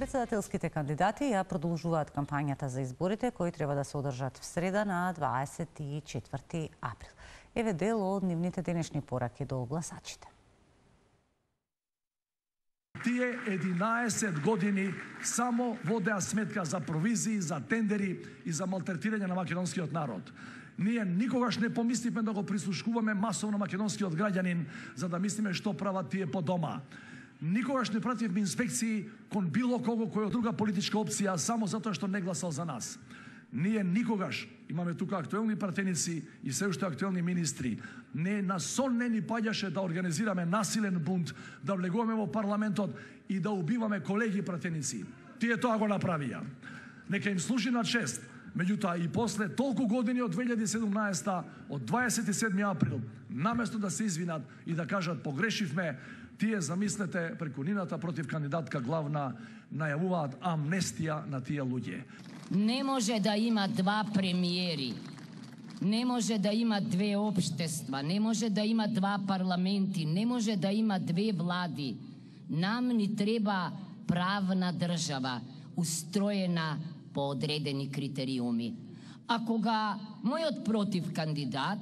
Председателските кандидати ја продолжуваат кампањата за изборите кои треба да се одржат в среда на 24 април. Еве дел од нивните денешни пораки до гласачите. Тие 11 години само водеа сметка за провизии, за тендери и за малтретирање на македонскиот народ. Ние никогаш не помисливме да го прислушкуваме масовно македонскиот граѓанин за да мислиме што прават тие по дома. Никогаш не пративме инспекции кон било кого кој од друга политичка опција само затоа што не гласал за нас. Ние никогаш, имаме тука актуелни пратеници и се уште актуелни министри, не на сон не ни паѓаше да организираме насилен бунт, да влегуваме во парламентот и да убиваме колеги пратеници. Тие тоа го направија. Нека им служи на чест. Меѓутоа и после толку години од 2017, од 27 април, наместо да се извинат и да кажат погрешивме, тие, замислете, преку нивната против кандидатка главна најавуваат амнестија на тие луѓе. Не може да има два премиери, не може да има две општества, не може да има два парламенти, не може да има две влади. Нам ни треба правна држава, устроена по одредени критериуми. А кога мојот против кандидат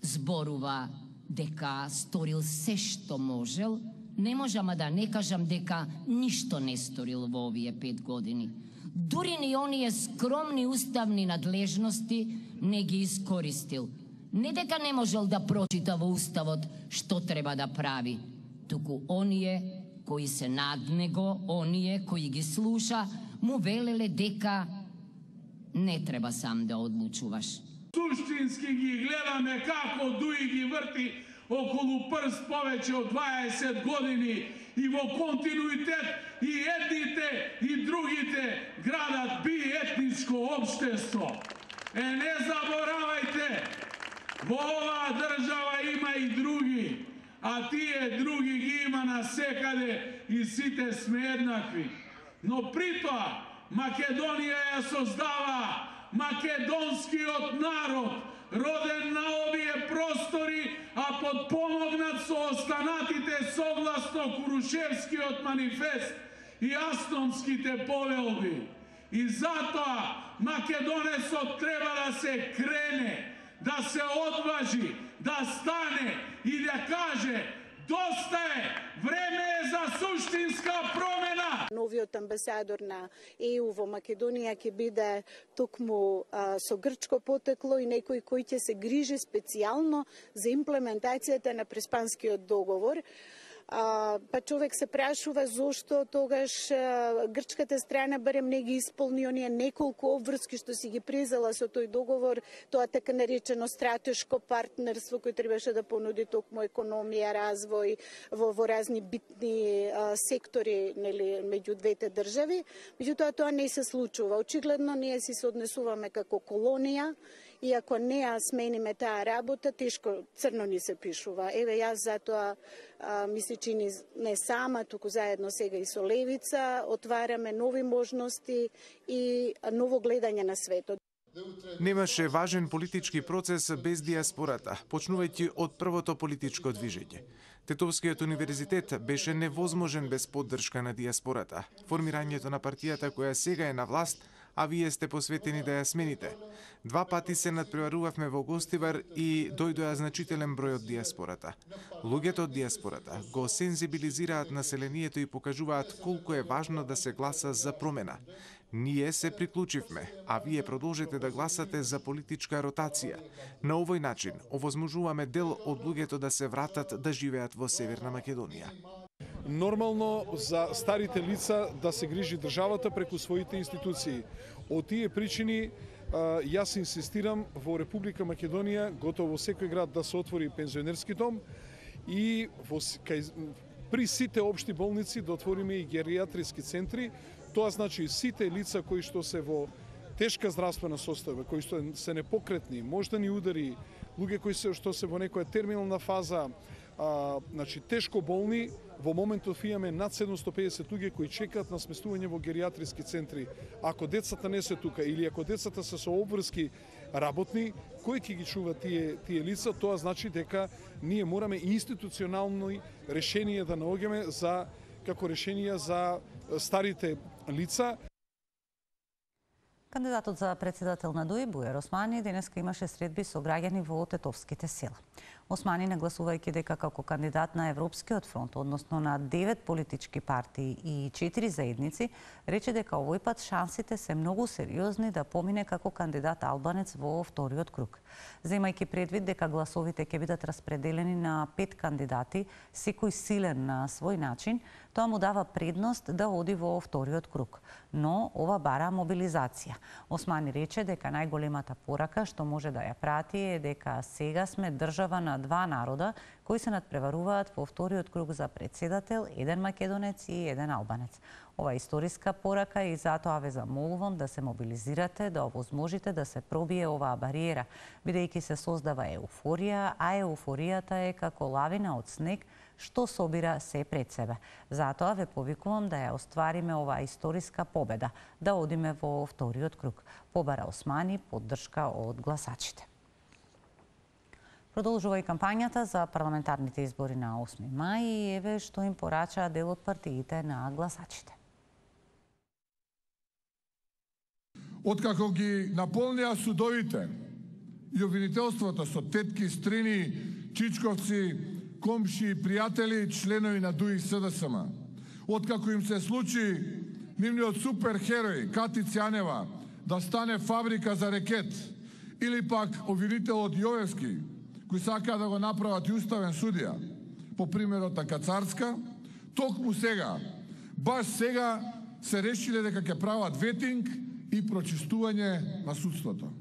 зборува дека сторил се што можел, не можам да не кажам дека ништо не сторил во овие 5 години. Дури ни оние скромни уставни надлежности не ги искористил. Не дека не можел да прочита во уставот што треба да прави, туку оние кои се над него, оние кои ги слуша, му велеле дека не треба сам да одлучуваш. Суштински ги гледаме како Дуи ги врти околу прст повеќе од 20 години и во континуитет и едните и другите градат биетничко општество. Не заборавајте, во оваа држава има и други, а тие други ги има насекаде и сите сме еднакви. Но притоа Македонија ја создава македонскиот народ, роден на овие простори, а подпомогнат со останатите согласно Курушевскиот манифест и Астонските повелби. И затоа македонецот треба да се крене, да се одважи, да стане и да каже: доста е, време е за суштинска промена. Новиот амбасадор на ЕУ во Македонија ќе биде токму со грчко потекло и некој кој ќе се грижи специјално за имплементацијата на Преспанскиот договор. Па човек се прашува зошто тогаш грчката страна барем не ги исполни оние неколку обврски што си ги презела со тој договор, тоа така наречено стратешко партнерство кој требаше да понуди токму економија, развој во разни битни сектори, нели, меѓу двете држави. Меѓутоа тоа не се случува. Очигледно ние си се однесуваме како колонија и ако не ја смениме таа работа, тешко црно ни се пишува. Еве јас затоа ми се чини не сама, туку заедно сега и со Левица, отвараме нови можности и ново гледање на светот. Немаше важен политички процес без диаспората, почнувајќи од првото политичко движење. Тетовскиот универзитет беше невозможен без поддршка на диаспората. Формирањето на партијата која сега е на власт, а вие сте посветени да ја смените. 2 пати се надпреварувавме во Гостивар и дојдоа значителен број од диаспората. Луѓето од диаспората го сензибилизираат населението и покажуваат колку е важно да се гласа за промена. Ние се приклучивме, а вие продолжете да гласате за политичка ротација. На овој начин овозможуваме дел од луѓето да се вратат да живеат во Северна Македонија. Нормално за старите лица да се грижи државата преку своите институции. Од тие причини јас инсистирам во Република Македонија готово во секој град да се отвори пензионерски дом и при сите општи болници да отвориме и гериатриски центри. Тоа значи сите лица кои што се во тешка здравствена состојба, кои што се непокретни, мождани удари, луѓе кои што се во некоја терминална фаза, значи тешко болни, во моментов имаме над 750 луѓе кои чекаат на сместување во гериатриски центри. Ако децата не се тука или ако децата се со обврски работни, кој ќе ги чува тие лица, тоа значи дека ние мораме институционални решенија да наоѓаме за како решенија за старите лица. Кандидатот за председател на ДУИ Бујар Османи денеска имаше средби со граѓани во Тетовските села. Османи, нагласувајќи дека како кандидат на Европскиот фронт, односно на 9 политички партии и 4 заедници, рече дека овој пат шансите се многу сериозни да помине како кандидат албанец во вториот круг. Земајќи предвид дека гласовите ќе бидат распределени на 5 кандидати, секој силен на свој начин, тоа му дава предност да оди во вториот круг. Но ова бара мобилизација. Османи рече дека најголемата порака што може да ја прати е дека сега сме држава на два народа кои се надпреваруваат во вториот круг за председател, еден македонец и еден албанец. Ова е историска порака и затоа ве замолувам да се мобилизирате, да овозможите да се пробие оваа бариера, бидејќи се создава еуфорија, а еуфоријата е како лавина од снег што собира се пред себе. Затоа ве повикувам да ја оствариме оваа историска победа, да одиме во вториот круг. Побара Османи поддршка од гласачите. Продолжува и кампањата за парламентарните избори на 8 мај и еве што им порача дел од партиите на гласачите. Откако ги наполнија судовите и обвинителството со тетки, стрини, чичковци, комши, пријатели, членови на ДУИ СДСМ, откако им се случи нивниот суперхерој Кати Цјанева да стане фабрика за рекет, или пак обвинителот Јовевски, кој сака да го направат и уставен судија, по примерот на Кацарска, токму сега, баш сега се решиле дека ќе прават ветинг и прочистување на судството.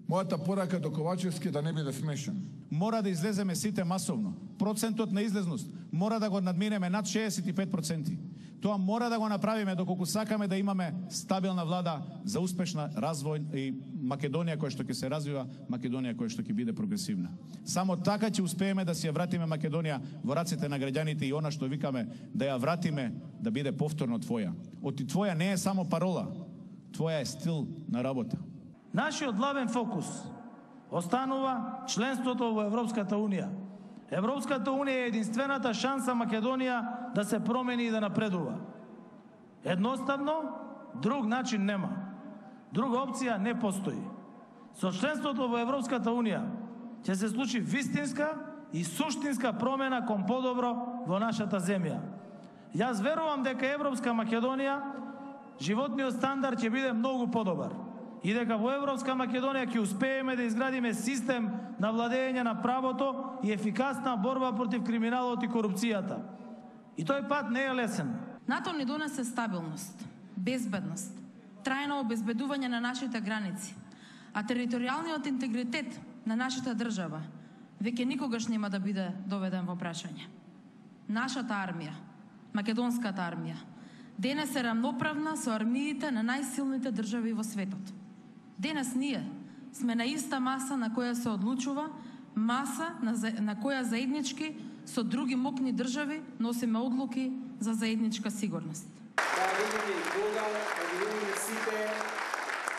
Мојата порака до Ковачевски да не биде смешен. Мора да излеземе сите масовно. Процентот на излезност мора да го надминеме над 65%. Тоа мора да го направиме доколку сакаме да имаме стабилна влада за успешна развој и Македонија која што ќе се развива, Македонија која што ќе биде прогресивна. Само така ќе успееме да си ја вратиме Македонија во рацете на граѓаните и она што викаме да ја вратиме да биде повторно твоја. Оти твоја не е само парола, твоја е стил на работа. Нашиот главен фокус останува членството во Европската Унија. Европската Унија е единствената шанса Македонија да се промени и да напредува. Едноставно, друг начин нема. Друга опција не постои. Со членството во Европската Унија ќе се случи вистинска и суштинска промена кон подобро во нашата земја. Јас верувам дека Европска Македонија животниот стандард ќе биде многу подобар и дека во Европска Македонија ќе успееме да изградиме систем на владење на правото и ефикасна борба против криминалот и корупцијата. И тој пат не е лесен. НАТО ни донесе стабилност, безбедност, трајно обезбедување на нашите граници, а територијалниот интегритет на нашата држава веќе никогаш нема да биде доведен во прашање. Нашата армија, македонската армија, денес е рамноправна со армиите на најсилните држави во светот. Денес ние сме на иста маса на која се одлучува, маса на која заеднички со други мокни држави носиме одлуки за заедничка сигурност. Да видиме кога, да видиме сите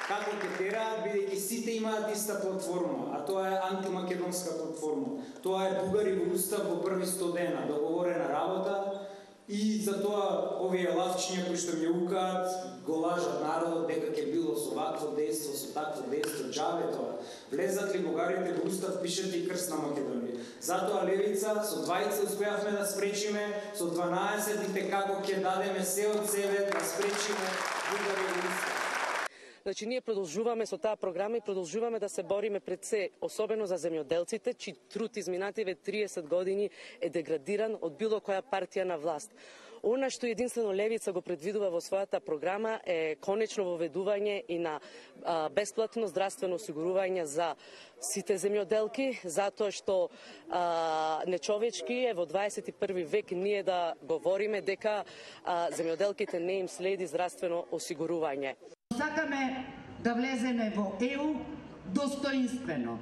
како ќе тераат, бидејќи сите имаат иста платформа, а тоа е антимакедонска платформа. Тоа е Бугари во устав во први 100 дена, договорена работа. И затоа овие лавчиња кои што ми укаат, го лажат народот дека ќе било со вакво дејство, со такво дејство, џабе тоа. Влезат ли бугарите во устав, пишете и крст на Македонија. Затоа левица со 20 успеавме да спречиме, со 12 како ќе дадеме се од себе да спречиме бугари во устав. Значи, ние продолжуваме со таа програма и продолжуваме да се бориме пред се, особено за земјоделците, чиј труд изминативе 30 години е деградиран од било која партија на власт. Она што единствено левица го предвидува во својата програма е конечно воведување и на бесплатно здравствено осигурување за сите земјоделки, затоа што нечовечки е во 21 век ние да говориме дека земјоделките не им следи здравствено осигурување. Сакаме да влеземе во ЕУ достоинствено,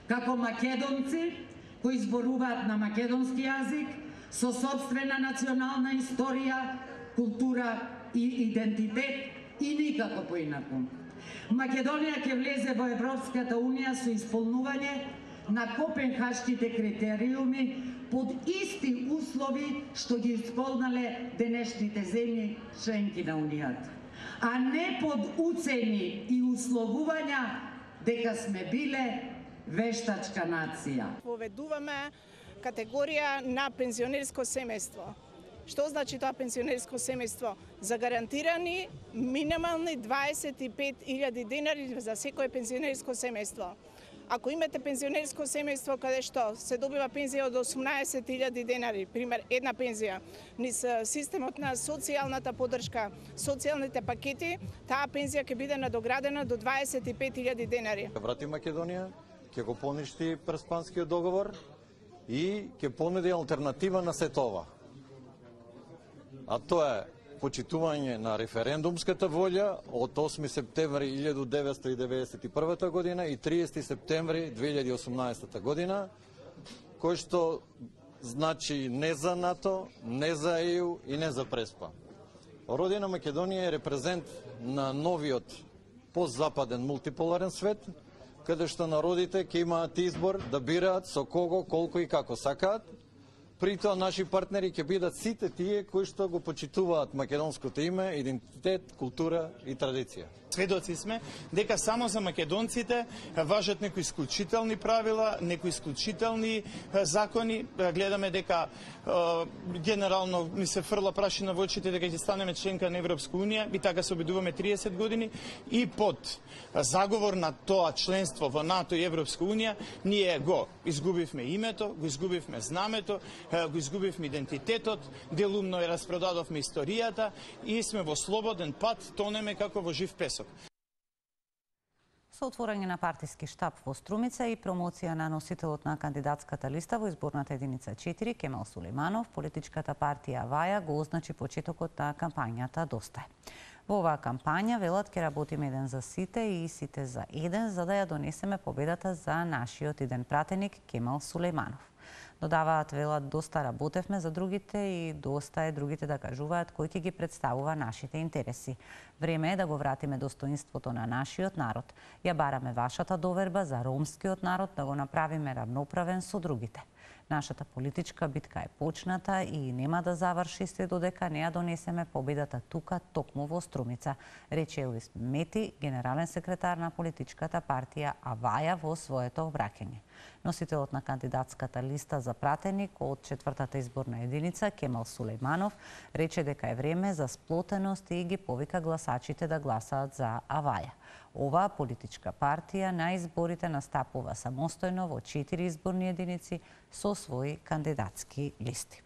како македонци кои зборуваат на македонски јазик, со собствена национална историја, култура и идентитет и никако поинаку. Македонија ќе влезе во Европската Унија со исполнување на копенхашките критериуми под исти услови што ги исполнале денешните земји членки на Унијата, а не под уцени и условувања дека сме биле вештачка нација. Поведуваме категорија на пензионерско семејство. Што значи тоа пензионерско семејство? Загарантирани минимални 25.000 денари за секое пензионерско семејство. Ако имате пензионерско семејство каде што се добива пензија од 18.000 денари, пример една пензија, низ системот на социјалната поддршка, социјалните пакети, таа пензија ќе биде надоградена до 25.000 денари. Врати Македонија, ќе го поништи Преспанскиот договор и ќе понуди алтернатива на сето ова. А тоа е почитување на референдумската волја од 8 септември 1991 година и 30 септември 2018 година, кој што значи не за НАТО, не за ЕУ и не за Преспа. Родина Македонија е репрезент на новиот постзападен мултиполарен свет, каде што народите ќе имаат избор да бираат со кого, колку и како сакаат. При тоа наши партнери ќе бидат сите тие кои што го почитуваат македонското име, идентитет, култура и традиција. Сведоци сме дека само за македонците важат некои исклучителни правила, некои исклучителни закони. Гледаме дека генерално ни се фрла прашина во очите дека ќе станеме членка на Европска унија и така се обидуваме 30 години и под заговор на тоа членство во НАТО и Европска унија ние го изгубивме името, го изгубивме знамето, го изгубивме идентитетот, делумно ја распродадовме историјата и сме во слободен пат, тонеме како во жив песок. Со отворање на партиски штаб во Струмица и промоција на носителот на кандидатската листа во изборната единица 4, Кемал Сулейманов, политичката партија Аваја го означи почетокот на кампањата Доста е. Во оваа кампања, велат, ќе работиме еден за сите и сите за еден, за да ја донесеме победата за нашиот иден пратеник Кемал Сулейманов. Додаваат, велат, доста работевме за другите и доста е другите да кажуваат кој ќе ги представува нашите интереси. Време е да го вратиме достоинството на нашиот народ. Ја бараме вашата доверба за ромскиот народ да го направиме равноправен со другите. Нашата политичка битка е почната и нема да заврши се додека не ја донесеме победата тука, токму во Струмица, рече Елвис Мети, генерален секретар на политичката партија Аваја во своето обраќање. Носителот на кандидатската листа за пратеник од 4-та изборна единица, Кемал Сулейманов, рече дека е време за сплотеност и ги повика гласачите да гласаат за Аваја. Оваа политичка партија на изборите настапува самостојно во 4 изборни единици со своји кандидатски листи.